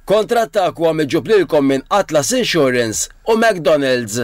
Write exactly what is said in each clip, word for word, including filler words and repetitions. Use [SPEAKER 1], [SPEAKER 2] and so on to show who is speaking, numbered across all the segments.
[SPEAKER 1] Kontrattakk huwa miġjub lilkom minn Atlas Insurance u McDonald's.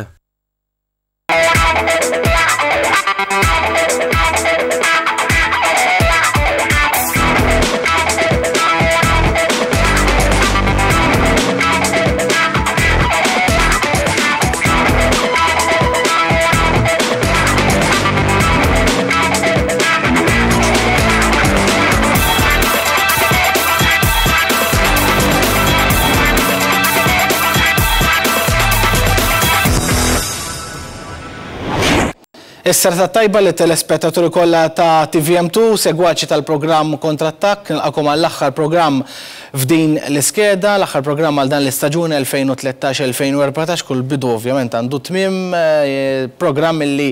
[SPEAKER 2] Is-serata tajba li telespettaturi kollha ta' T V M two, segwaċi tal-programm Kontrattakk, nilqakom għall-aħħar programm f'din l-iskeda, l-aħħar programm għal dan l-istaġun elfejn u tlettax elfejn u erbatax, kull bidu ovvjament għandu tmiem, eh, programm illi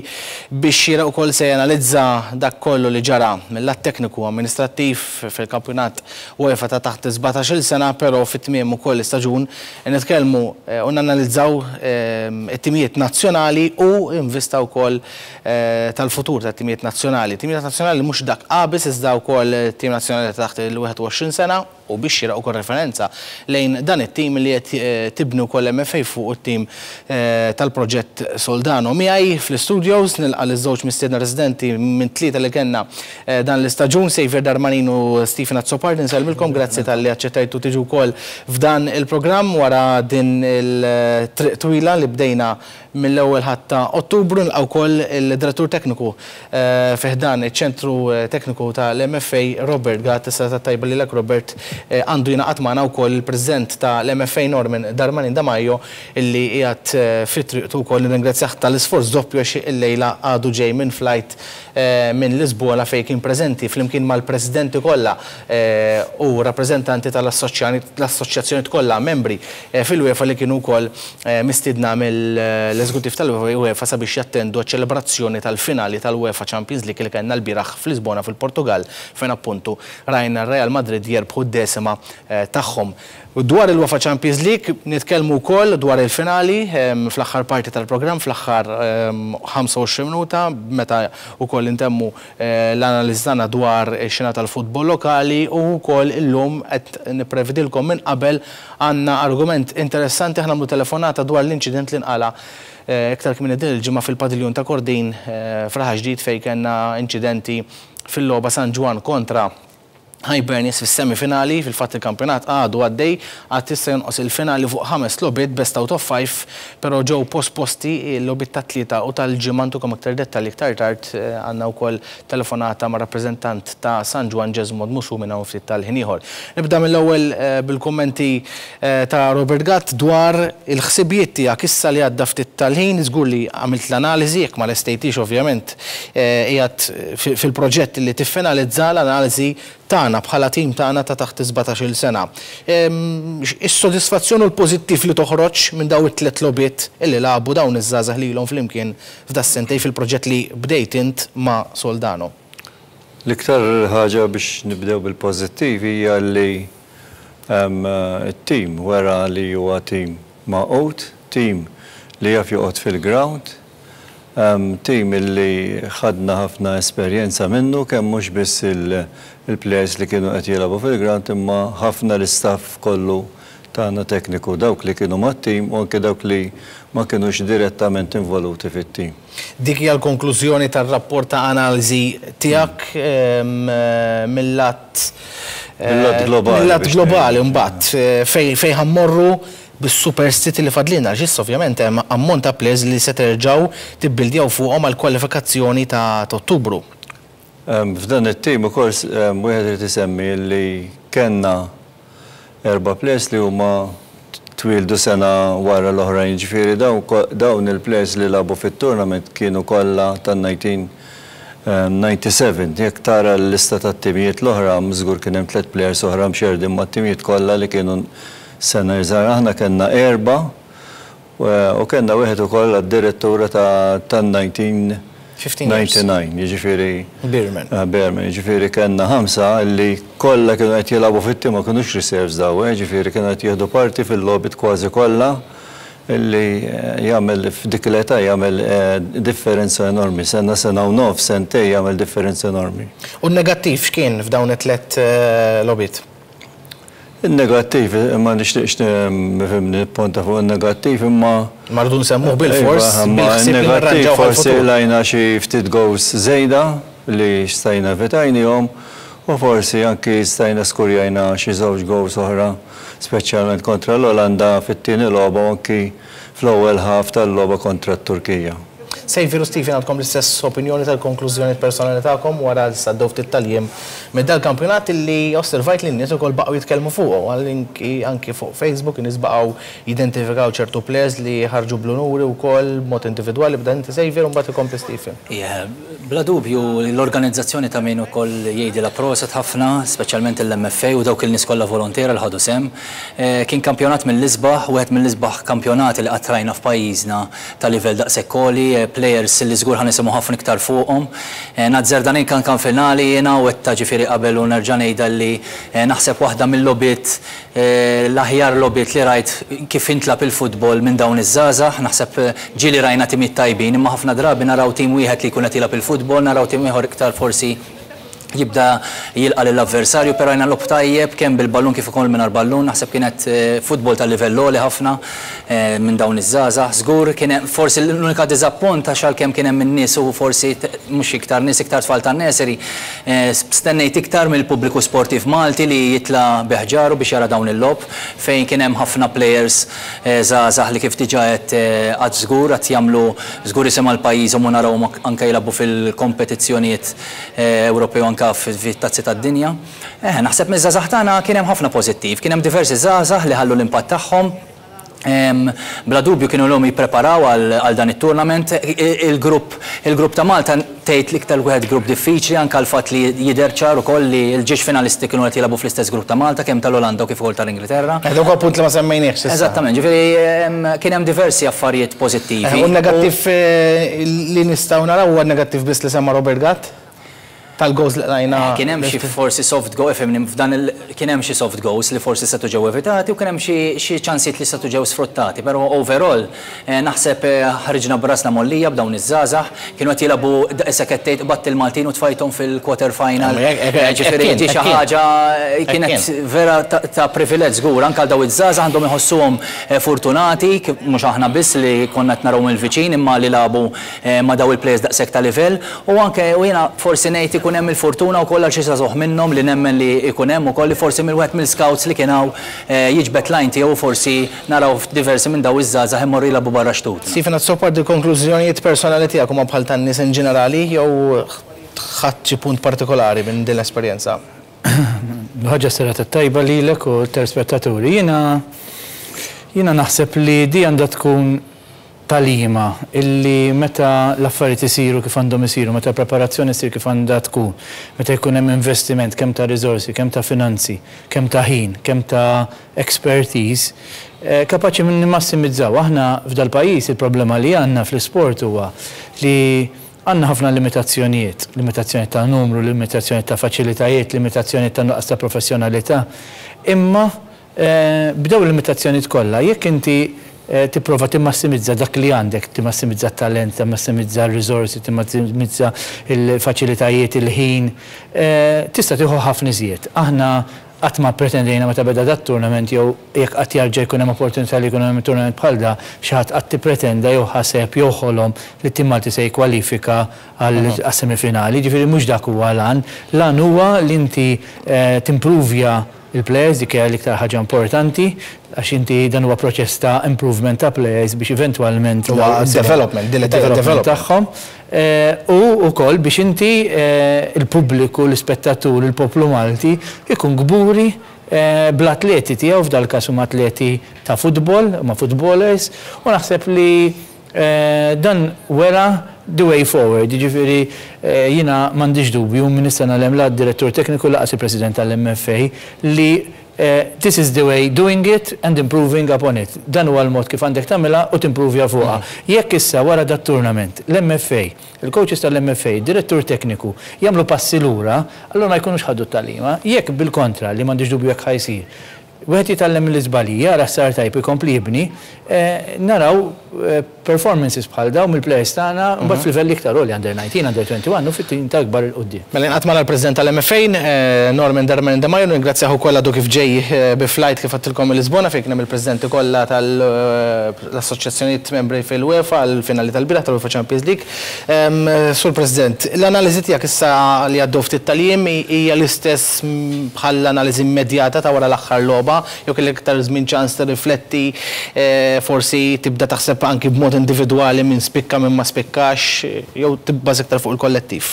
[SPEAKER 2] biex xieraq ukoll se janalizza dak kollu li ġara mill-lat tekniku amministrattiv fil-kampjonat UEFA ta' taħt sbatax-il sena, però fit-tmiem ukoll l-istaġun nitkellmu eh, u nanalizzaw eh, it-timijiet nazzjonali u invista wkoll tal-futur tat timijiet nazzjonali. Timijiet nazzjonali mhux dak A biss, iżda wkoll tim nazzjonali taħt il-wieħed u għoxrin sena, u biex xieraq ukoll referenza lejn dan it-tim li qed eh, tibnu wkoll M F A fuq it-tim eh, tal-proġett Soldano. Miegħi fl-studios nilqa' liż-żewġ mistiedna residenti minn tlieta li kellna eh, dan l-istaġun, Xavier Darmanin u Stephen Azzopardi. Nsellmilkom, grazzi talli aċċettajtu tiġu wkoll f'dan il-programm wara din il-triq twila li bdejna mill-ewwel Ħadd ta' Ottubru. Nilqa' wkoll il-direttur tekniku fi ħdan iċ-ċentru tekniku tal-M F A, Robert Gatt. Is-serata tajba lilek, Robert. Għandu jingħaqad magħna wkoll il-President tal-M F A, Norman Darmanin Damajo, illi qiegħed fi triqtu wkoll. Nirringrazzjah tal-isforz doppju għax illejla għadu ġej minn flight minn Lisbona fejn kien preżenti flimkien mal-presidenti kollha u rappreżentanti tal-assoċjazzjoni kollha membri fil-UEFA li kienu wkoll mistiedna mill-eżekutiv tal-UEFA sabiex jattendu ċelebrazzjoni tal-finali tal-UEFA Champions League li kellna l-bieraħ f'Lisbona fil-Portugal, fejn appuntu rajna Real Madrid jerbħu d-deċima tagħhom. Dwar il-UEFA Champions League nitkellmu wkoll dwar il-finali fl-aħħar parti tal-programm, fl-aħħar ħamsa u għoxrin minuta, meta wkoll intemmu l-analiżi tagħna dwar ix-xena tal-futbol lokali. U wkoll illum qed nipprevedilkom minn qabel għandna argument interessanti, aħna nagħmlu telefonata dwar l-inċident li nqala iktar kmieni din il-ġimgħa fil-padiljun ta' Kordin f'Raħal Ġdid, fejn kellna inċidenti fil-logħba San Ġwann kontra Hibernians fis-semifinali. Fil-fatt il-kampjonat għadu għaddej, għad issa jonqos il-finali fuq ħames logħbiet best out of five, però ġew posposti l-logħbiet tat-Tlieta u tal-Ġimgħa. Ntukom aktar dettalji iktar tard. Għandna wkoll telefonata ma' rappreżentant ta' San Ġwann, Jesmond Musu, minn hawn ftit tal-ħin ieħor. Nibda mill-ewwel bil-kummenti ta' Robert Gatt dwar il-ħsibijiet tiegħek issa li għadda ftit tal-ħin. Żgur li għamilt l-analiżi, jekk ma lestejtix ovvjament qiegħed fil-proġett li tiffinalizza l-analiżi tagħna bħala tim tagħna ta' taħt sbatax-il sena. Is-sodisfazzjon u l-pożittiv li toħroġ minn daw it-tliet logħbiet illi lagħbu dawn iż-żgħażagħ lilhom flimkien f'das-sentejn fil-proġett li bdejt int ma' Soldano.
[SPEAKER 3] L-iktar ħaġa biex nibdew bil-pożittiv hija li it-tim wera li huwa tim magħqud, tim li jaf joqgħod fil-ground, tim illi ħadna ħafna esperjenza minnu, kemm mhux biss il-players li kienu qed jilagħbu fil-ground, imma ħafna l-istaff kollu tagħna tekniku, dawk li kienu mat-tim u anke dawk li ma kinux direttament involuti fit-tim.
[SPEAKER 2] Dik hija l-konklużjoni tar-rapport ta' analiżi tiegħek mill-lat
[SPEAKER 3] mill-lat globali.
[SPEAKER 2] Mill-lat globali mbagħad fejn fejn ħa mmorru bis-superstiti li fadlina, għax ovvjament hemm ammont ta' players li se terġgħu tibbildjaw fuqhom għal kwalifikazzjoni ta' Ottubru.
[SPEAKER 3] F'dan it-tim ukoll wieħed irid isemmi li kellna erba' players li huma twildu sena wara l-oħrajn, ġifieri dawn il-players li lagħbu fit-tournament kienu kollha tan-elf disa' mija u disgħa u sebgħin. Jekk tara l-lista tat-timijiet l-oħra, żgur kien hemm tliet players oħra mxerdin mat-timijiet kollha li kienu sena iżgħar. Aħna kellna erba' u kellna wieħed ukoll għad-direttura tan-elf disa' mija u disgħa u disgħin, jiġifieri
[SPEAKER 2] Beerman.
[SPEAKER 3] Beerman, jiġifieri kellna ħamsa li kollha kienu qed jilagħbu fit-tim, ma kinux reserves daw, jiġifieri kienu qed jieħdu parti fil-logħbiet kważi kollha, illi jagħmel f'dik l-età jagħmel differenza enormi. Sena, sena u nof, sentej jagħmel differenza enormi.
[SPEAKER 2] U n-negattiv x'kien f'dawn it-tlet logħbiet?
[SPEAKER 3] Il-negattiv, ma nixtieqx nifhimni nipponta fuq il-negattiv, imma
[SPEAKER 2] Mardu nsemmuh bil-fors.
[SPEAKER 3] Iva, il-negattiv forsi qlajna xi ftit goals żejda li stajna evitajnihom u forsi anki stajna skurjajna xi żewġ goals oħra, speċjalment kontra l-Olanda fit-tieni logħba u anki fl-ewwel half tal-logħba kontra t-Turkija.
[SPEAKER 2] Xavier u Stephen, għandkom l-istess opinjoni tal-konklużjoni personali tagħkom wara li għaddew ftit tal-jiem minn dal-kampjonat li osservajt li n-nies ukoll baqgħu jitkellmu fuqu, anki anki fuq Facebook in-nies baqgħu jidentifikaw ċertu players li ħarġu bl-unuri wkoll b'mod individwali. Bda inti, Xavier, u mbagħad ikompli Stephen.
[SPEAKER 4] Yeah, bla dubju l-organizzazzjoni ta' min ukoll jgħidilha proset ħafna, speċjalment l-M F A u dawk il-nies kollha volontiera li ħadu sehem. Eh, Kien kampjonat mill-isbaħ, wieħed mill-isbaħ kampjonati li qatt rajna f'pajjiżna ta' livell daqshekk għoli, eh, players li żgur ħa nisimgħu ħafna iktar fuqhom. Eh, Nazzarda kan kan finali jiena u għedtha ġifieri qabel u nerġa' ngħidha li eh, naħseb waħda mill-logħbiet, eh, l-aħjar logħbiet li rajt kif intlagħab il-futbol minn dawn iż-żgħażagħ. Naħseb eh, ġieli rajna timiet tajbin, imma ħafna drabi naraw tim wieħed li jkun qed jilgħab il-futbol, naraw tim ieħor iktar forsi jibda jilqa lill-avversarju, però rajna logħob tajjeb kemm bil-ballun kif ukoll mingħajr ballun. Naħseb kienet eh, futbol tal-livell għoli ħafna eh, minn dawn iż-żgħażagħ. Żgur kien hemm forsi l-unika diżappunt għax għalkemm kien hemm in-nies u forsi t- mhux iktar nies, iktar tfal tan-nursery, eh, stennejt iktar mill-pubbliku sportiv Malti li jitla bi ħġaru biex jara dawn il-logħob fejn kien hemm ħafna players eh, żgħażagħ li kif diġà qed għad żgur qed jagħmlu żgur isem għal pajjiżhom u narawhom anke jilagħbu fil-kompetizzjonijiet eh, Ewropew, anke fit-tazzi tad-dinja. Eh, naħseb miż-żgħażagħ tagħna kien hemm ħafna pożittiv, kien hemm diversi żgħażagħ li ħallu l-impatt tagħhom. Em, Bla dubju kienu ilhom jippreparaw għal għal dan it-tournament. Il-grupp il-grupp ta' Malta tgħid l-iktar wieħed grupp diffiċli, anke l-fatt li jidher ċar ukoll li l-ġiex finalisti kienu qed jilagħbu fl-istess grupp ta' Malta, kemm tal-Olanda u kif ukoll tal-Ingilterra.
[SPEAKER 2] Eh, Dak huwa punt li ma semmejniex s'issa.
[SPEAKER 4] Eżattament, ġifieri em, kien hemm diversi affarijiet pożittivi.
[SPEAKER 2] Eh, U negattiv eh, li nistgħu naraw huwa negattiv biss li semma Robert Gatt tal-goals li qlajna.
[SPEAKER 4] Kien hemm xi forsi soft goal, ifhimni, f'dan il kien hemm xi soft goals li forsi setgħu ġew evitati u kien hemm xi xi ċansijiet li setgħu ġew sfruttati, però overall eh, naħseb eh, ħriġna b'rasna mgħollija b'dawn iż-żgħażagħ, kienu qed jilagħbu issa qed tgħid qbadt il-Maltin u tfajthom fil-quarter final.
[SPEAKER 2] Eh, hekk-
[SPEAKER 4] Eh,
[SPEAKER 2] hekk
[SPEAKER 4] Ġifieri
[SPEAKER 2] kien,
[SPEAKER 4] di xi
[SPEAKER 2] hekk kien.
[SPEAKER 4] ħaġa eh, kienet
[SPEAKER 2] kien.
[SPEAKER 4] vera ta' ta' privileġġ żgur, anke għal daw iż-żgħażagħ għandhom iħossuhom eh, fortunati, kif- mhux aħna biss li konna qed naraw mill-viċin imma li lagħbu eh, ma' daw il-players daqshekk ta' livell u anke u jiena forsi ngħid ikun hemm il-fortuna wkoll għal xi żagħżugħ minnhom li nemmen li ikun hemm ukoll li forsi mill-wieħed mill-scouts li kien hawn eh, jiġbed l-għajn tiegħu, forsi naraw diversi minn daw iż-żgħażagħ imorru jilagħbu barra xtut.
[SPEAKER 2] Stephen Azzopardi, konklużjonijiet personali tiegħek huma bħal tan-nies in ġenerali jew ħadd xi punt partikolari minn din l-esperjenza?
[SPEAKER 5] Ħaġa serata tajba lilek u telespettaturi. Jiena jiena naħseb li di għandha tkun tagħlima illi meta l-affarijiet isiru kif għandhom isiru, meta preparazzjoni ssir kif għandha tkun, meta jkun hemm investiment kemm ta' riżorsi, kemm ta' finanzi, kemm ta' ħin, kemm ta' expertise, eh, kapaċi minn nimmassimizzaw. Aħna f'dal-pajjiż il-problema li għandna fl-isport huwa li għandna ħafna limitazzjonijiet, limitazzjoni ta' numru, limitazzjoni ta' faċilitajiet, limitazzjoni ta' nuqqas ta' professjonalità. Imma eh, b'daw il-limitazzjonijiet kollha, jekk inti eh, tipprova timmassimizza dak li għandek, timmassimizza t-talent, timmassimizza r-riżorsi, timmassimizza il-faċilitajiet, il-ħin, eh, tista' tieħu ħafna iżjed. Aħna qatt ma pretendejna meta beda dat tournament jew jekk qatt jarġa' jkun hemm opportunità li jkun hemm tournament bħal da, xi ħadd qatt tippretenda jew ħaseb jew ħolom li t-tim Malti se jikkwalifika għal semifinali. Ġifieri mhux dak huwa l-għan. L-għan huwa li inti eh, timpruvja il-players, dik hija l-iktar ħaġa importanti, għax inti dan huwa proċess ta' improvement ta' players biex eventwalment
[SPEAKER 2] Huwa development,
[SPEAKER 5] development
[SPEAKER 2] development.
[SPEAKER 5] tagħhom. Eh, U wkoll biex inti eh, il-pubbliku, l-ispettatur, il-poplu Malti ikun kburi eh, bl-atleti tiegħu, f'dal każ huma atleti ta' futbol, huma footballers, u naħseb li eh, dan wera the way forward, jiġifieri eh, jiena m'għandix dubju minn is-sena l la direttur tekniku lanqas il-president tal-M F A li eh, this is the way doing it and improving upon it. Dan huwa l-mod kif għandek tagħmilha u timprovja fuqha. Jekk issa wara dat tournament l-M F A, il-coaches tal-M F A, direttur tekniku jagħmlu passi lura, allura ma jkunux ħadu t-tagħlima. Jekk bil-kontra, li m'għandix dubju jekk ħa jsir, Wieħed jitgħallem mill-iżbalji, jara sar tajb, ikompli jibni, naraw performances bħal dawn mill-players tagħna mbagħad f'livell iktar għoli, under nineteen, under twenty-one u fit-tim ta' akbar 'il quddiem.
[SPEAKER 2] Mela nqatt mal-President tal-M F A, Norman Darmanin Demajo, ningrazzjahu kollha du kif ġej bi flight, kif għedtilkom, Lisbona fejn kien hemm il-presidenti kollha tal-assoċjazzjonijiet membri fil-UEFA għal-finali tal-bieraħ tal-UEFA Champions League. Sur President, l-analiżi tiegħek issa li għaddew ftit tal-jiem hija l-istess bħall-analiżi immedjata ta' wara l-aħħar logħba, jew kellek iktar żmien ċans tirrifletti, forsi tibda taħseb anki b'mod individwali minn spikka, minn ma spikkax, jew tibbaż iktar fuq il-kollettiv?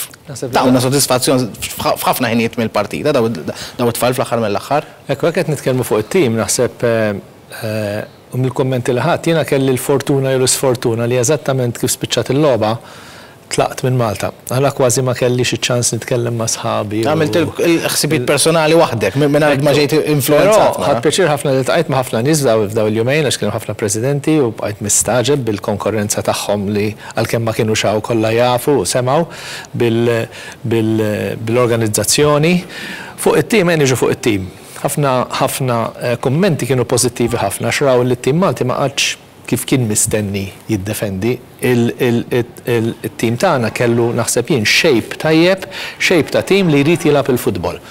[SPEAKER 2] Tawna sodisfazzjon f'ħafna ħinijiet mill-partita daw it-tfal fl-aħħar mill-aħħar.
[SPEAKER 6] Ekku, qed nitkellmu fuq it-tim, naħseb u mill-kommenti li ħadd, jiena kelli l-fortuna jew l-isfortuna li eżattament kif spiċċat il-logħba tlaqt minn Malta. Għala kważi ma kelli xi ċans nitkellem ma' sħabi.
[SPEAKER 2] Għamilt il-ħsibiet personali waħdek, minn ma ġejt influenzat.
[SPEAKER 6] Ħadt pjaċir ħafna li ltqajt ma' ħafna nies f'daw il-jumejn, għax kienu ħafna presidenti u bqajt mistagħġeb bil-konkurrenza tagħhom li għalkemm ma kienu xaw kollha jafu u semgħu bil-organizzazzjoni. Fuq it-tim, niġu fuq it-tim. Ħafna ħafna kummenti kienu pożittivi ħafna, xraw li t-tim Malti ma qatx kif kien mistenni jiddefendi. Il-tim tagħna kellu, naħseb jien, shape tajjeb, shape ta' tim li jrid jilgħab il-futbol.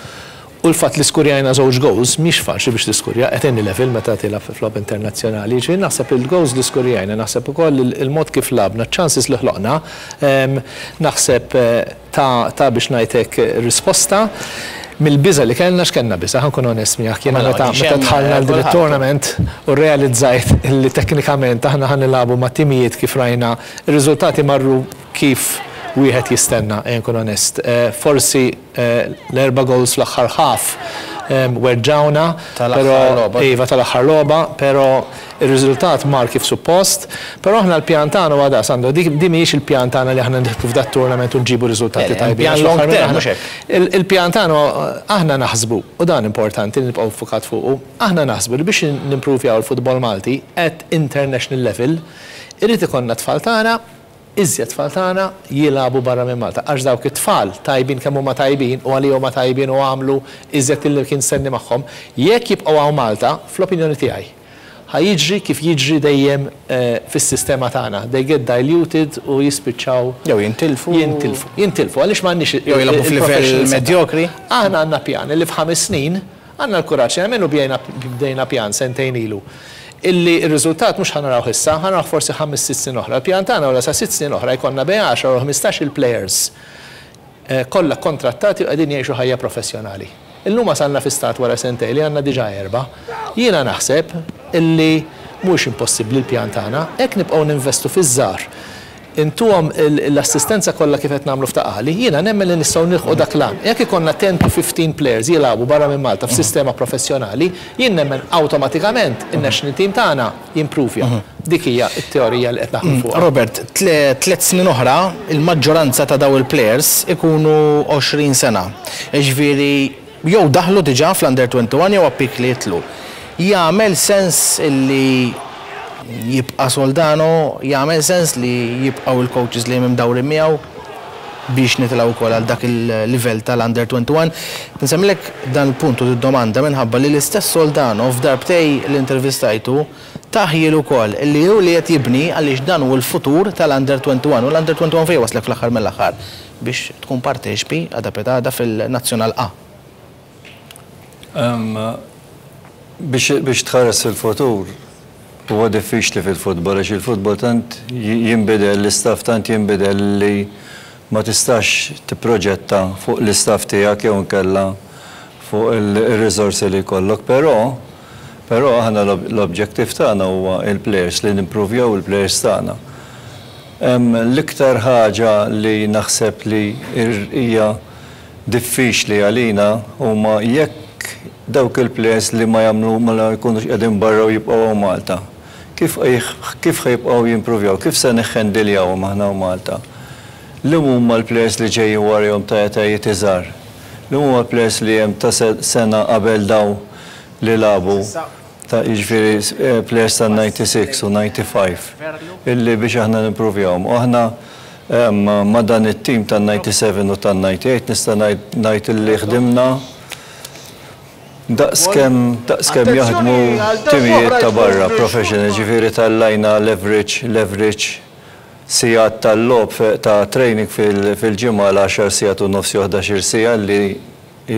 [SPEAKER 6] U l-fatt li skurjajna żewġ goals mhix faċli biex tiskurja at any level meta tilgħab fi logħob internazzjonali. Ġifieri naħseb il-goals li skurjajna, naħseb ukoll il-mod kif lgħabna, chances li ħloqna, naħseb ta' ta' biex ngħidlek risposta mill-biża li kellna. X'kellna biża, ħa nkun onest miegħek, jiena meta meta dħalna l din it-tournament u realizzajt li teknikament aħna ħa nilagħbu ma' timijiet kif rajna, ir-riżultati marru kif wieħed jistenna, nkun onest. Forsi l-erba' goals fl-aħħar half weġġawna, però iva, tal-aħħar logħba, però ir-riżultat mar kif suppost, però aħna l-pjan tagħna huwa da, Sandro, di mhijiex il-pjan tagħna li aħna nidħlu f'dat tournament u nġibu riżultati tajbin. Il-pjan tagħna, aħna naħsbu, u dan importanti li nibqgħu ffukat fuqu, aħna naħsbu li biex nimprovjaw il-futbol Malti at international level, irid ikollna tfal tagħna, iżjed tfal tagħna jilagħbu barra minn Malta. Għax dawk it-tfal tajbin kemm huma tajbin u għalihom huma tajbin u għamlu iżjed illi kien senni magħhom, jekk jibqgħu hawn Malta, fl-opinjoni tiegħi, ħa jiġri kif jiġri dejjem fis-sistema tagħna. They get diluted u jispiċċaw.
[SPEAKER 2] Jew jintilfu.
[SPEAKER 6] Jintilfu. Jintilfu għaliex m'għandniex
[SPEAKER 2] jew jilagħbu f'livell medjokri.
[SPEAKER 6] Aħna għandna pjan li f'ħames snin għandna l-kuraġġ nagħmlu, bdejna pjan sentejn ilu, illi r-riżultat mhux ħa naraw issa, ħa naraw forsi ħames sitt snin oħra. Il-pjan tagħna wara sa sitt snin oħra jkollna bejn għaxra u ħmistax il-players kollha kontrattati u qegħdin jgħixu ħajja professjonali. Illum wasalna fi stat wara sentejn li għandna diġà erba'. Jiena naħseb illi mhux impossibbli l-pjan tagħna, hekk nibqgħu ninvestu fiż-żgħar, intuhom l-assistenza kollha kif qed nagħmlu f'Ta' Qali, jiena nemmen li nistgħu nilħqu dak l-għan. Jekk ikollna ten to fifteen players jilagħbu barra minn Malta f'sistema professjonali, jien nemmen awtomatikament in-national team tagħna jimpruvja. Dik hija t-teorija li qed naħdmu fuqha.
[SPEAKER 2] Robert, tliet snin oħra il-maġġoranza ta' daw il-players ikunu għoxrin sena. Jiġifieri jew daħlu diġà fl-under twenty-one jew appik li jitlu. Jagħmel sens illi jibqa' Soldano, jagħmel sens li jibqgħu il-coaches li mdawrin miegħu biex nitilgħu wkoll għal dak il-livell tal-under twenty-one? Nsemmilek dan il-punt u domanda minħabba li l-istess Soldano f'darbtej l-intervistajtu taħjil ukoll li hu li qed jibni għaliex dan hu l-futur tal-under twenty-one u l-under twenty-one fejn waslek fl-aħħar mill-aħħar biex tkun parteċpi għada petada fil-Nazzjonal A.
[SPEAKER 3] Biex tħares fil-futur huwa diffiċli fil-futbol, għax il-futbol tant jinbidel, l-istaff tant jinbidel li ma tistax tipproġetta fuq l-istaff tiegħek jew inkella fuq il-riżorsi li jkollok, però però aħna l-objective tagħna huwa il-players, li nimprovjaw il-players tagħna. L-iktar ħaġa li naħseb li hija diffiċli għalina huma jekk dawk il-players li ma jagħmlu ma jkunux qegħdin barra u jibqgħu Malta. Kif kif ħajbqgħu jimprovjaw, kif se neħħendiljawhom aħna u Malta? Li huma l-players li ġejjin warahom ta' etajiet iżgħar? Li huma l-players li hemm ta' sena qabel daw li lagħbu, ta' jiġifieri players ta' ninety-six u ninety-five, illi biex aħna nimprovjawhom. U aħna ma' dan it-tim ta' ninety-seven u ta' ninety-eight nista' ngħid illi ħdimna Daqskemm daqskemm jaħdmu timijiet ta' barra professional, ġifieri tal-lajna leverage, leverage sigħat tal-logħob ta' training fil-ġimgħa l-għaxar sigħat u nofs jew ħdax-il siegħa li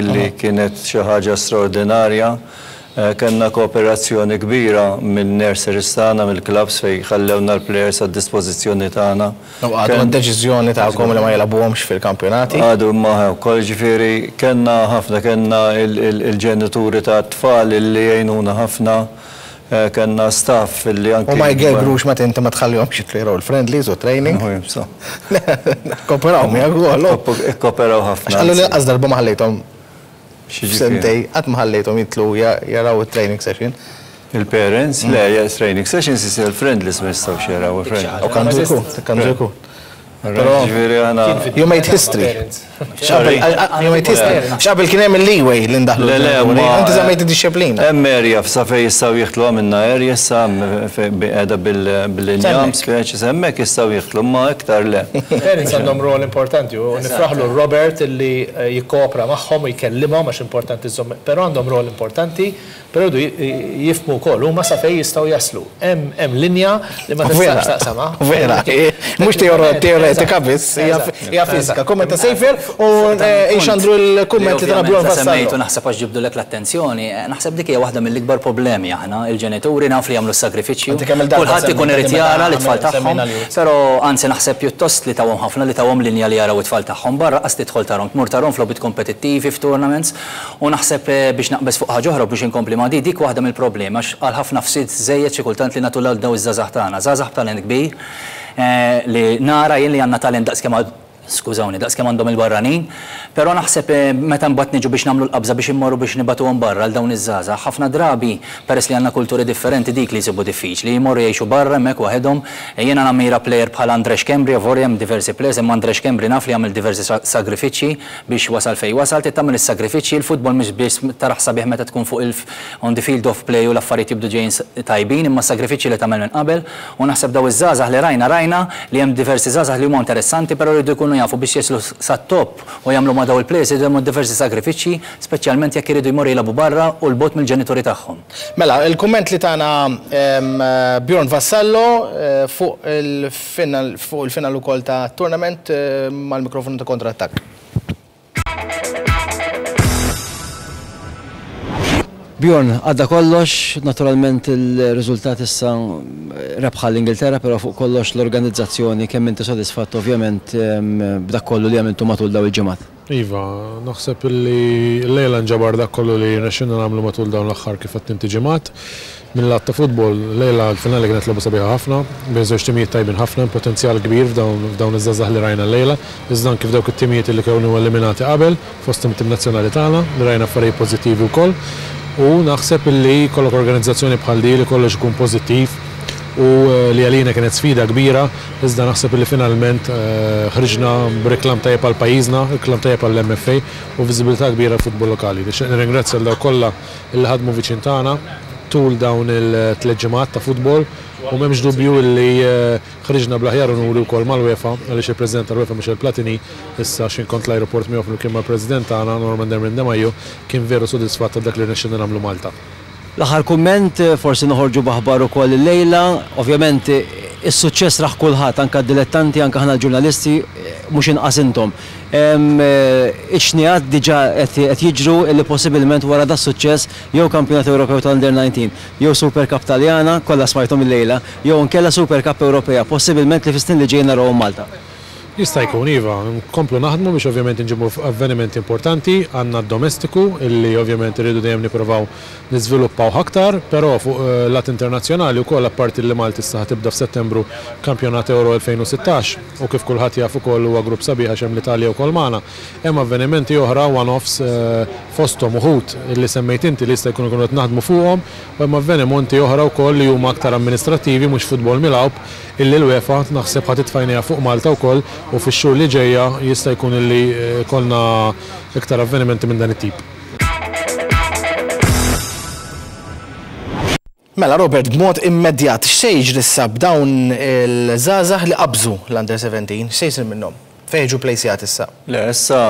[SPEAKER 3] illi kienet xi ħaġa straordinarja. Kellna kooperazzjoni kbira minn nurseries tagħna, mill-clubs fejn ħallewna l-players għad-dispożizzjoni tagħna.
[SPEAKER 2] Għadu d-deċiżjoni tagħkom li ma jilagħbuhomx fil-kampjonati?
[SPEAKER 3] Għadu ma wkoll, ġifieri kellna ħafna, kellna il-ġenituri ta' tfal illi jgħinuna ħafna, kellna staff illi anke.
[SPEAKER 2] U ma jgergrux meta inti ma tħallihomx jitlu l-friendlies u training? Kooperaw miegħek ukoll.
[SPEAKER 3] Ikkoperaw ħafna.
[SPEAKER 2] Għallu li lanqas darba ma ħallejthom sentej, qatt ma ħallejthom jitlu jaraw il-training session.
[SPEAKER 3] Il-parents? Le, training sessions isir il-friendlies ma jistgħux jaraw il-friendlies.
[SPEAKER 2] U kandu jkun, kandu jkun. Però you made history. You made history. X'qabel kien hemm il-leeway li ndaħlu.
[SPEAKER 3] Le, le,
[SPEAKER 2] inti żammejt id-dixxiplina.
[SPEAKER 3] Hemm area sa fejn jistgħu jieħdlu għamilna area issa qiegħda bil-injam speċi hemmhekk jistgħu jieħdlu ma iktar le.
[SPEAKER 6] Parents għandhom rol importanti u nifraħlu Robert illi jikkopra magħhom u jkellimhom għax importanti żomm, però għandhom rol importanti, però jridu jifhmu wkoll huma sa fejn jistgħu jaslu. Hemm linja li ma tistax taqsamha.
[SPEAKER 2] Vera, mhux teoretika biss, hija fiżika. Kumment ta' Sejfer u xandru l-kumment li tana Bjorn Vassallo.
[SPEAKER 4] Semmejtu naħseb għax ġibdulek l-attenzjoni, naħseb dik hija waħda mill-ikbar problemi aħna, il-ġenituri naf li jagħmlu s-sagrifiċċju. Kulħadd ikun irid jara l-itfal tagħhom, però anzi naħseb pjuttost li tawhom ħafna li tawhom linja li jaraw it-tfal tagħhom barra qas tidħol tarhom, tmur tarhom f'logħbiet kompetittivi f'tournaments u naħseb biex naqbeż fuq ħaġa oħra biex inkompli ma' di dik waħda mill-problemi għax għal ħafna fsit żejjed xi kultant li nagħtu lil daw iż-żgħażagħ tagħna, żgħażagħ b'talent kbir li nara jien li għandna talent daqskemm skużawni, daqskemm għandhom il-barranin, però naħseb meta mbagħad niġu biex nagħmlu l-qabża biex immorru biex nibatuhom barra għal dawn iż-żgħażagħ, ħafna drabi peress li għandna kulturi differenti dik li jsibu diffiċli, jmorru jgħixu barra hemmhekk waħedhom. Jiena nammira player bħal Andres Kembri, avolja hemm diversi players, imma Andres Kembri naf li jagħmel diversi sagrifiċċji biex wasal fejn wasal, trid tagħmel is-sagrifiċċji, il-futbol mhux biss taraħ sabiħ meta tkun fuq il on the field of play u l-affarijiet jibdu ġejjin tajbin, imma sagrifiċċji li tagħmel minn qabel u naħseb daw iż-żgħażagħ li rajna rajna li hemm diversi żgħażagħ li huma interessanti, però jridu jkunu jafu biex jeslu sat-top u jagħmlu ma' daw il-players jridu jagħmlu diversi sagrifiċċji, speċjalment jekk iridu jmorru jilagħbu barra u l-bot mill-ġenituri tagħhom.
[SPEAKER 2] Mela, il-kumment li tana Bjorn Vassallo fuq il-final fuq il-final ukoll ta' tournament mal-mikrofonu ta' Kontrattakk.
[SPEAKER 1] Bjorn, għadda kollox, naturalment il-riżultat issa rebħa l-Ingilterra, però fuq kollox l-organizzazzjoni, kemm inti sodisfatt ovvjament b'dak kollu li għamiltu matul daw il-ġimgħat?
[SPEAKER 7] Iva, naħseb li l-lejla nġabar dak kollu li rnexxilna nagħmlu matul dawn l-aħħar kif qed inti ġimgħat. Mill-lat ta' futbol, lejla l-finali kienet logħba sabiħa ħafna, bejn żewġ timijiet tajbin ħafna, potenzjal kbir f'dawn iż-żgħażagħ li rajna llejla, iżda anke f'dawk it-timijiet li kienu eliminati qabel, fosthom it-tim nazzjonali tagħna, li rajna affarijiet pożittivi wkoll. U naħseb li kollok organizzazzjoni bħal di li kollox ikun pożittiv u li għalina kienet sfida kbira, iżda naħseb li finalment ħriġna b'reklam tajjeb għal pajjiżna, reklam tajjeb għall M F A u viżibilità kbira għall-futbol lokali. Nixtieq nirringrazzja lil dawk kollha li ħadmu viċin tagħna tul dawn il-tliet ġimgħat ta' futbol u m'hemmx dubju li ħriġna bl-aħjar unuri wkoll mal-UEFA għaliex il-President tal-UEFA Michel Platini issa x'in kont l-ajruport miegħu flimkien mal-President tagħna Norman Dermin De Majo kien veru sodisfatt ta' dak li rnexxilna nagħmlu Malta.
[SPEAKER 1] L-aħħar kumment, forsi noħorġu b'aħbar ukoll illejla, ovvjament is-suċċess raħ kulħadd, anke d-dilettanti, anke aħna l-ġurnalisti, mhux inqas intom. Ix-xnijat diġà qed jiġru li possibilment wara da suċċess jew Kampjonat Ewropew ta' Under nineteen, jew Super Cup Taljana, kollha smajthom illejla, jew inkella Super Cup Ewropea, possibilment li fis-snin li ġejjin narawhom Malta.
[SPEAKER 7] Jista' jkun iva, nkomplu naħdmu biex ovvjament inġibu avvenimenti importanti, għandna d-domestiku illi ovvjament irridu dejjem nippruvaw niżviluppaw aktar, però fuq lat internazzjonali wkoll apparti li Malta issa tibda f'Settembru Kampjonat Euro elfejn u sittax u kif kulħadd jaf ukoll huwa grupp sabiħ għax hemm l-Italja wkoll magħna. Hemm avvenimenti oħra one-offs fosthom uħud illi semmejt inti li jista' jkunu qed naħdmu fuqhom, u hemm avvenimenti oħra wkoll li huma aktar amministrattivi mhux futbol milgħub illi l-UEFA naħseb ħa titfajnija fuq Malta wkoll u fix-xhur li ġejja jista' jkun illi kollna iktar avvenimenti minn dan it-tip.
[SPEAKER 2] Mela Robert, b'mod immedjat, x'se jiġri issa b'dawn il-żgħażagħ li qabżu l-Under seventeen, x'se jsir minnhom? Fejn jiġu plejsjat issa?
[SPEAKER 3] Le, issa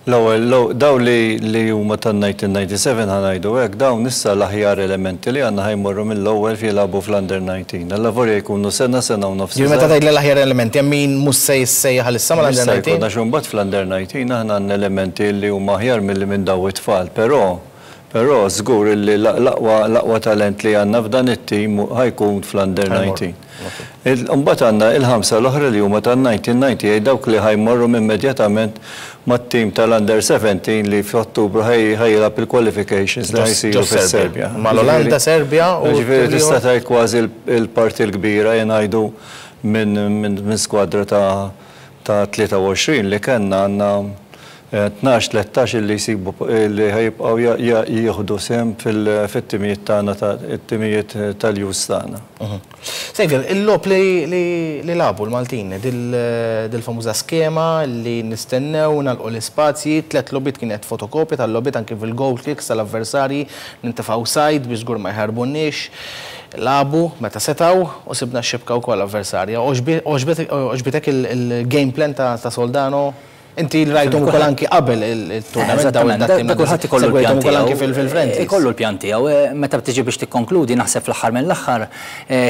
[SPEAKER 3] L-ewwel daw li huma tan-nineteen ninety-seven ħa ngħidu hekk, dawn issa l-aħjar elementi li għandna ħajmorru mill-ewwel jilagħbu fl-under nineteen. Alla volja jkunu sena, sena u nofs.
[SPEAKER 2] Ġifieri meta tgħid l-aħjar elementi, hemm min mhux se jissejjaħ issa mal-under nineteen?
[SPEAKER 3] Għax imbagħad fl-under nineteen aħna għandna elementi li huma aħjar milli minn daw it-tfal, però però żgur li l-aqwa talent li għandna f'dan it-tim ħajkun fl-under nineteen. Imbagħad għandna il-ħamsa l-oħra li huma tan-nineteen ninety-eight, dawk li ħajmorru immedjatament mat-tim tal-under seventeen li f'Ottubru ħajjilgħab il-qualifications li ħajsiru fis-Serbja.
[SPEAKER 2] Mal-Olanda, Serbja u
[SPEAKER 3] Ġifieri tista' tgħid kważi l-parti l-kbira jingħidu minn skwadra ta' tlieta u għoxrin li kellna għandna tnax, tlettax li jsibu li ħajibqgħu jieħdu sehem fit-timijiet tagħna, it-timijiet tal-jus tagħna.
[SPEAKER 2] Xavier, il-logħob li lagħbu l-Maltin, dil-famuża skema li nistennew nagħlqu l-ispazji, tliet logħbiet kienet fotokopja tal-logħbiet anke fil-goal kicks tal-avversarji, nintefgħu side biex żgur ma jħarbunniex. Lagħbu meta setgħu u sibna x-xibka wkoll avversarja. Għoġbitek il-game plan ta' Soldano? Inti rajthom ukoll anki qabel il-tournament dawn
[SPEAKER 4] id-dati. Kulħadd ikollu l-pjan
[SPEAKER 2] tiegħu anki fil-friendlies.
[SPEAKER 4] Ikollu l-pjan tiegħu. Meta tiġi biex tikkonkludi naħseb fl-aħħar mill-aħħar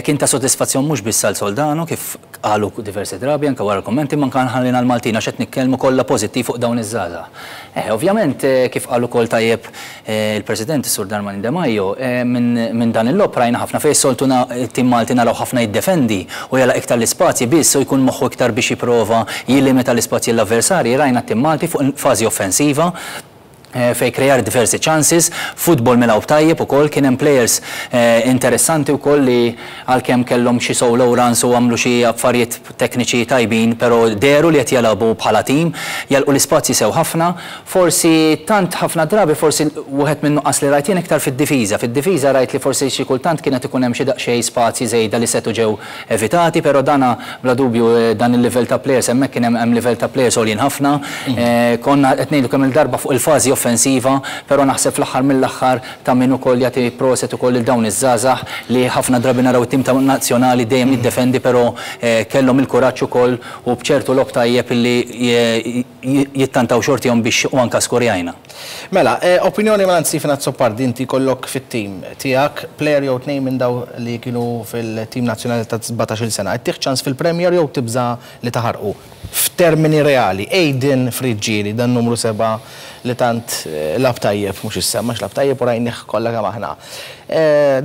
[SPEAKER 4] kien ta' sodisfazzjon mhux biss għal Soldano kif qalu diversi drabi anke wara l-kummenti, ma anke ħallina l-Maltin għax qed nitkellmu kollha pożittiv fuq dawn iż-żgħażagħ. Ovvjament kif qalu wkoll tajjeb il-President Sur Darmanin De Majo, minn dan il-logħob rajna ħafna fejn soltu it-tim Malti naraw ħafna jiddefendi u jagħlaq iktar l-ispazji biss u jkun moħħu iktar biex jipprova jillimita l-ispazji l-avversarji. Rajna t-tim Malti fuq fażi offensiva fej krejar diversi chances, futbol milgħub tajjeb ukoll, kien hemm players interessanti wkoll li għalkemm kellhom xi solo runs u għamlu xi affarijiet tekniċi tajbin, però dehru li qed jilagħbu bħala tim, jalqu l-ispazji sew ħafna. Forsi tant ħafna drabi forsi wieħed minn nuqqas li rajt jien iktar fid-difiża. Fid-difiża rajt li forsi xi kultant kienet ikun hemm xi daqsxejn spazji żejda li setu ġew evitati, però dana bla dubju dan il-livell ta' players hemmhekk kien hemm livell ta' players għoljin ħafna. Konna qed ngħidu kemm il-darba fuq il-fażi offensiva, però naħseb fl-aħħar mill-aħħar ta' min ukoll jagħti proset ukoll lil dawn iż-żgħażagħ li ħafna drabi naraw it-tim ta' nazzjonali dejjem jiddefendi, però kellhom il-kuraġġ ukoll u b'ċertu logħob tajjeb li jittantaw xortihom biex u anke skorjajna.
[SPEAKER 2] Mela, opinjoni mela Stephen Azzopardi, inti kollok fit-tim tiegħek player jew tnejn minn daw li kienu fil-tim nazzjonali ta' sbatax-il sena. Ittieħ ċans fil-Premier jew tibża' li taħarqu? F'termini reali, Aiden Friggieri, dan numru seba' li tant lab tajjeb, mhux issa, mhux lab tajjeb u rajnih kollha kemm aħna.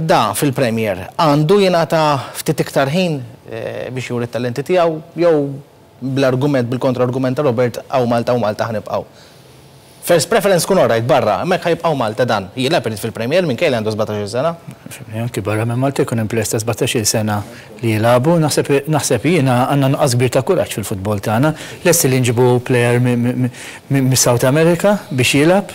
[SPEAKER 2] Da fil-Premier għandu jingħata ftit iktar ħin biex juri t-talenti tiegħu jew bl-argument, bil-kontra-argument ta' Robert, hawn Malta u Malta ħnibqgħu. First preference kun orajt barra, hemmhekk ħajbqgħu Malta dan. Jilgħab irid fil-Premier minkejja li għandu sbatax-il sena.
[SPEAKER 5] Anki barra minn Malta jkun hemm players ta' sbatax-il sena li jilagħbu, naħseb jiena għandna nuqqas kbir ta' kuraġġ fil-futbol tagħna. Lesti li nġibu player mis-South America biex jilgħab,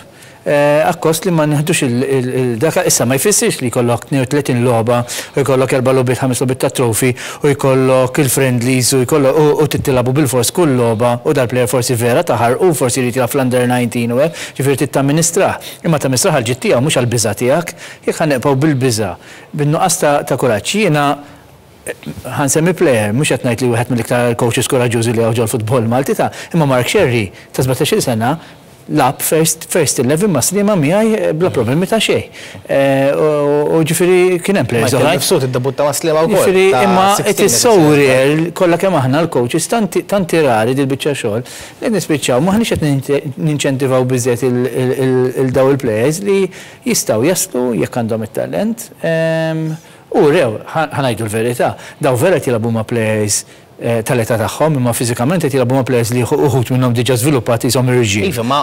[SPEAKER 5] akkost li ma nieħdux il-daka. Issa ma jfissirx li jkollok tnejn u tletin logħba u jkollok erba' logħbiet, ħames logħbiet ta' trophy u jkollok il-friendlies u jkollok u tittilagħbu bil-fors kull logħba u dal-player forsi vera taħar u forsi jrid jilgħab fl-under nineteen u hekk, ġifieri trid tamministrah. Imma tamministrah għall-ġid tiegħu mhux għall-biża' tiegħek. Jekk ħanibqgħu bil-biża', bin-nuqqas ta' kuraġġ. Jiena ħansemmi player, mhux qed ngħid li wieħed mill-iktar coaches kuraġġużi li hawn ġol-futbol Malti ta' imma Mark Sherry ta' sbatax-il sena lab first, first eleven ma' Sliema miegħi bla problemi ta' xejn. U ġifieri kien hemm players oħrajn.
[SPEAKER 2] Michael Mifsud iddebutta ma' Sliema wkoll.
[SPEAKER 5] Ġifieri imma it is so rare kollha kemm aħna l-coaches tanti rari dil-biċċa xogħol li nispiċċaw m'aħniex qed ninċentivaw biżżejjed il daw il-players li jistgħu jaslu jekk għandhom it-talent. U rew, ħanajdu l-verità, daw vera jilagħbu ma' players tal-età tagħhom, imma fiżikament qed jilagħbu ma' players li uħud minnhom diġà żviluppati jisom irġiel.
[SPEAKER 2] Iva, ma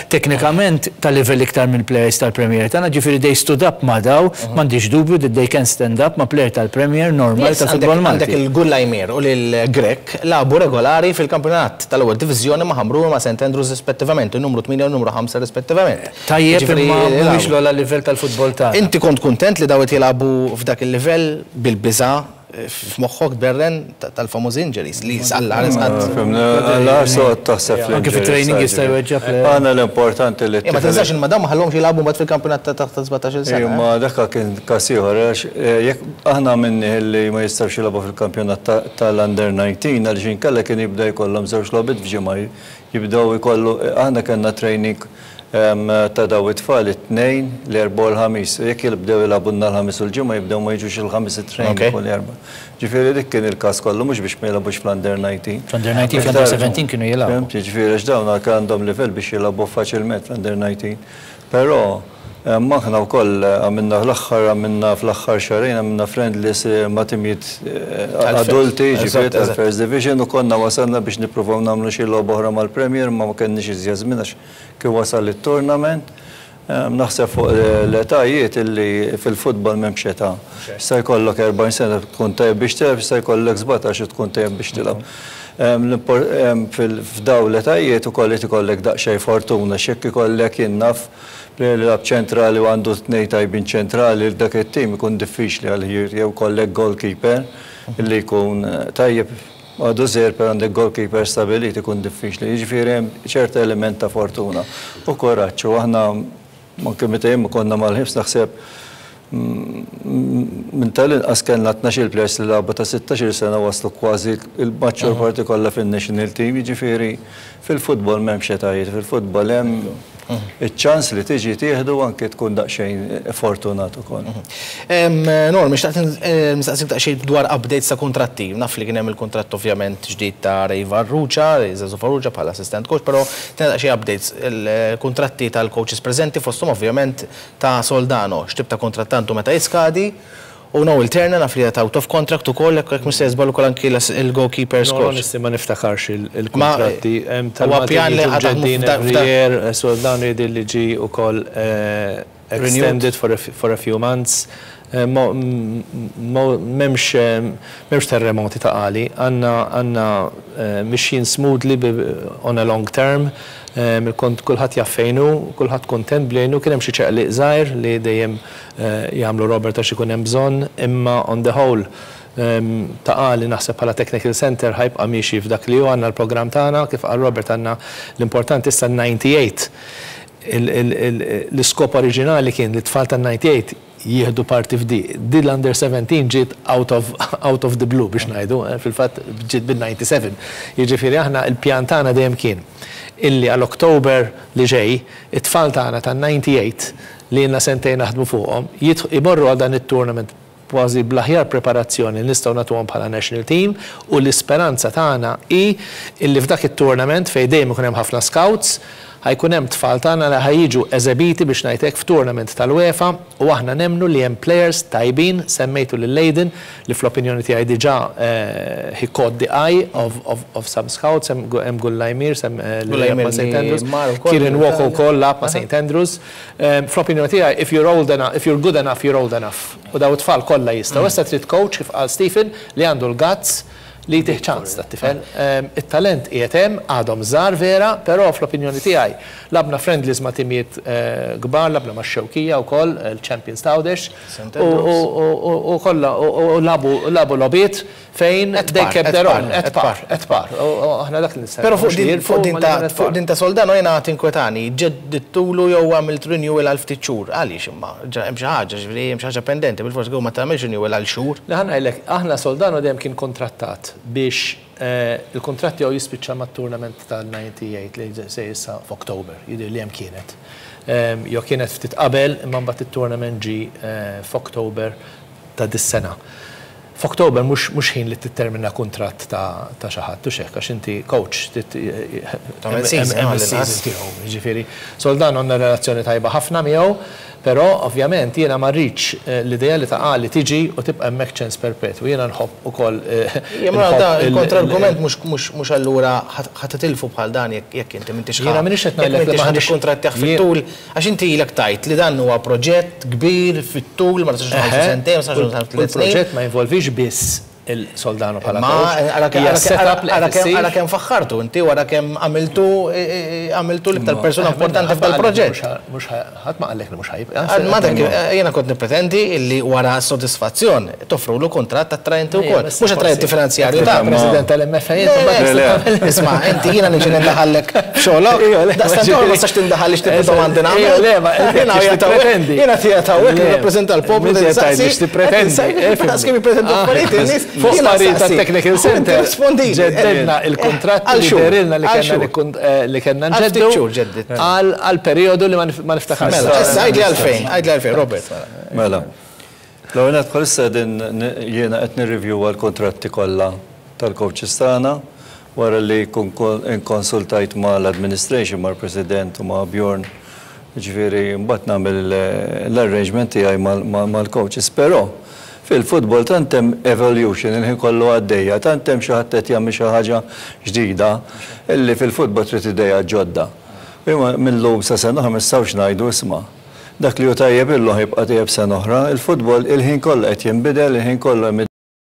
[SPEAKER 5] Teknikament ta' livell iktar mill players tal-Premier tagħna, ġifieri they stood up ma' daw, m'għandix dubju that they can stand up ma' player tal-Premier normal ta' futbol Malti.
[SPEAKER 2] Għandek il-Gullajmir u l-Grek lagħbu regolari fil-kampjonat tal-ewwel diviżjoni ma' Ħamrun ma' Saint Andrews rispettivament, il-numru tmienja u n-numru ħamsa rispettivament.
[SPEAKER 5] Tajjeb imma mhuwiex l-ogħla livell tal-futbol tagħna.
[SPEAKER 2] Inti kont kuntent li daw qed jilagħbu f'dak il-livell bil-biża' f'moħħok berren tal-famuż injuries li għalla ħares.
[SPEAKER 3] Għalla soqgħod taħseb fl-injuries.
[SPEAKER 5] Anke fit-training jista' jweġġa' player.
[SPEAKER 3] Għandna l-importanti li
[SPEAKER 2] Ma tinsax imma dawn ma ħallhomx jilagħbu mbagħad fil-kampjonat ta' taħt sbatax-il sena.
[SPEAKER 3] Ma dak kien każ ieħor għax jekk aħna minni li ma jistgħux jilagħbu fil-kampjonat tal-under nineteen għaliex inkella kien jibda jkollhom żewġ logħbiet f'ġimgħa Jibdew ikollu, aħna kellna training ta' daw it-tfal it-tnejn, l-erba' u l-ħamis. Jekk jibdew jilagħbulna l-ħamis u l-ġimgħa jibdew ma jiġux il-ħamis it-training u l-erba'. Ġifieri dik kien il-każ kollu mhux biex ma jilagħbux fl-under nineteen.
[SPEAKER 4] Fl-under nineteen, fl-under seventeen kienu jilagħbu.
[SPEAKER 3] Ġifieri għax dawn għandhom livell biex jilagħbu faċilment fl-under nineteen. Però aħna wkoll għamilna l-aħħar għamilna fl-aħħar xahrejn għamilna friendlies ma' timijiet adulti, ġifieri tal-First Division, u konna wasalna biex nippruvaw nagħmlu xi logħba oħra mal-Premier, ma ma kenniex iżjed żmien għax kif wasal it-tournament. Naħseb fuq l-etajiet illi fil-futbol m'hemmx età. Issa jkollok erbgħin sena tkun tajjeb biex tilgħab, issa jkollok sbatax tkun tajjeb biex tilgħab. F'daw l-etajiet ukoll irid ikollek daqsxejn fortuna, x'jekk ikollek innaf player li lab ċentrali u għandu tnejn tajbin ċentrali dak it-tim ikun diffiċli għal jew kollek goalkeeper illi jkun tajjeb għadu żgħir per għandek goalkeeper stabilit ikun diffiċli. Jiġifieri hemm ċerta element ta' fortuna u kuraġġ, u aħna anke meta jien konna mal-ħibs naħseb minn tal-inqas kellna tnax-il players li lagħbu ta' sittax-il sena waslu kważi il-maġġor parti kollha fin-national team, jiġifieri fil-futbol m'hemmx etajiet, fil-futbol hemm iċ-ċans li tiġi tieħdu anke tkun daqsxejn fortunat ukoll.
[SPEAKER 2] Norm, xtaqt nistaqsik daqsxejn dwar updates ta' kuntratti. Naf li kien hemm il-kuntratt ovvjament ġdid ta' Ray Farrugia, Zazu Farrugia bħala assistant coach, però tina daqsxejn updates il-kuntratti tal-coaches preżenti fosthom ovvjament ta' Soldano, x'tip ta' kuntratt għandu meta jiskadi, u Noel Turner naf li out of contract ukoll, jekk mhux se żball ukoll anki il-goalkeeper
[SPEAKER 6] No,
[SPEAKER 2] coach.
[SPEAKER 6] Onesti ma niftakarx il-kontratti.
[SPEAKER 2] Huwa pjan li ħa
[SPEAKER 6] Soldano jidher li ġie ukoll extended for a, for a few months. M'hemmx m'hemmx terremoti Ta' Qali. Għandna għandna mixjin smoothly on a long term. Il-kont kulħadd jaf fejn hu, kulħadd kontent b'li hu, kien hemm xi ċaqliq żgħir li dejjem jagħmlu Robert għax ikun hemm bżonn, imma on the whole Ta' Qali naħseb bħala technical center ħa jibqa' miexi f'dak li hu. Għandna l-programm tagħna, kif qal Robert, għandna l-importanti issa ninety-eight. L-iskop oriġinali kien li tfal ta' ninety-eight jieħdu parti f'di. Di l-under seventeen ġiet out of, out of the blue biex ngħidu, fil-fatt ġiet bil-ninety-seven. Jiġifieri aħna il-pjan tagħna dejjem kien illi għal Oktober li ġej, it-tfal tagħna ta' ninety-eight li ilna sentejn naħdmu fuqhom, imorru għal dan it-tournament kważi bl-aħjar preparazzjoni li nistgħu nagħtuhom bħala national team, u l-isperanza tagħna hi illi f'dak it-tournament fejn dejjem ikun hemm ħafna scouts, ħa jkun hemm tfal tagħna li ħa jiġu eżebiti biex ngħidlek f'tournament tal-UEFA, u aħna nemmnu li hemm players tajbin, semmejtu lil Leiden li fl-opinjoni tiegħi diġà he caught the eye of, of, of some scouts, hemm Gullajmir, sem
[SPEAKER 2] Gullajmir
[SPEAKER 6] ma' Saint Andrews,
[SPEAKER 2] li mar ukoll
[SPEAKER 6] Kieran Walker
[SPEAKER 2] l-Italja.
[SPEAKER 6] ukoll lagħab ma' Saint Andrews. Fl-opinjoni tiegħi, if you're old enough, if you're good enough, you're old enough. U daw it-tfal kollha jistgħu. Issa trid coach kif qal Stephen li għandu l-guts li tih ċans ta' tifel. Il-talent qiegħed hemm, għadhom żgħar vera, però fl-opinjoni tiegħi lgħabna friendlies ma' timijiet kbar, lgħabna ma' Xewkija wkoll, il-Champions t'Għawdex, u kollha u lagħbu logħbiet fejn they kept their own, at par, at par. U aħna dak li nistennew.
[SPEAKER 2] Però fuq din ta' fuq din ta' Soldano jiena tinkwetani, ġeddidtulu jew għamilt renewal għal ftit xhur. Għaliex imma hemm xi ħaġa, ġifieri hemm xi ħaġa pendenti, bil-fors ma tagħmilx renewal għal xhur.
[SPEAKER 6] Le, ħa ngħidlek, aħna Soldano dejjem kien kontrattat biex il-kontratti tiegħu jispiċċa mat-tournament tal-ninety-eight li se issa f'Oktober, jidher li hemm kienet. Jo kienet ftit qabel, imma mbagħad it-tournament ġi f'Oktober ta' dis-sena. F'Oktober mhux ħin li tittermina kuntratt ta' xi ħadd, u hekk għax inti coach
[SPEAKER 2] Tagħmel season
[SPEAKER 6] tiegħu, jiġifieri. Soldano għandna relazzjoni tajba ħafna miegħu, però ovvjament jiena ma rridx l-idea li Ta' Qali tiġi u tibqa' hemmhekk ċens perpetwu. Jiena nħobb ukoll.
[SPEAKER 2] Il-kontra-argument mhux allura ħa titilfu bħal dan jekk inti m'intix
[SPEAKER 6] Jiena m'iniex qed ngħidlek li
[SPEAKER 2] m'intix kuntratt fit-tul, għax inti ilek tajt li dan huwa proġett kbir fit-tul, ma tistax nħallsu sentejn, ma tistax nħallsu tliet snin.
[SPEAKER 6] Il-proġett ma jinvolvix biss il-Soldano bħala
[SPEAKER 2] Ma
[SPEAKER 6] coach.
[SPEAKER 2] ara kemm faħħartu inti wara kemm għamiltu għamiltu l-iktar persuna importanti f'dal proġett.
[SPEAKER 6] Mhux ħadd ma qallek li mhux ħa jibqa'.
[SPEAKER 2] Ma dak jiena kont nippretendi illi wara sodisfazzjon toffrulu kuntratt attraenti wkoll. Mhux attraenti finanzjarju ta'
[SPEAKER 6] President tal-M F A.
[SPEAKER 2] Isma', inti jiena niġi nindaħallek f'xogħlok. Daqstant ma tistax tindaħal x'tip domandi nagħmel.
[SPEAKER 6] Le, ma
[SPEAKER 2] Jiena tiegħek hawnhekk nirrappreżenta l-poplu.
[SPEAKER 6] Tippretendi.
[SPEAKER 2] Daqs kemm jippretendu affarijiet in-nies.
[SPEAKER 6] Fuq parir ta' Technical Center. Ġeddedna il-kontratti li dehrilna li kellna li kellna nġeddu għal periodu li ma niftakarx.
[SPEAKER 2] Mela, issa għidli għalfejn, għidli għalfejn, Robert.
[SPEAKER 3] Mela. L-ewwel bħalissa din jiena qed nirrivjuwa l-kontratti kollha tal-coaches tagħna wara li kun inkonsultajt ma' l-administration, mal-president u ma' Bjorn. Ġifieri mbagħad nagħmel l-arrangement tiegħi mal-coaches, però fil-futbol tant hemm evolution il-ħin kollu għaddejja, tant hemm xi ħadd qed jagħmel xi ħaġa ġdida illi fil-futbol trid idea ġodda. Imma mill-lum sa sena oħra ma nistgħux ngħidu isma'. Dak li hu tajjeb illum jibqa' tajjeb sena oħra, il-futbol il-ħin kollu qed jinbidel, il-ħin kollu hemm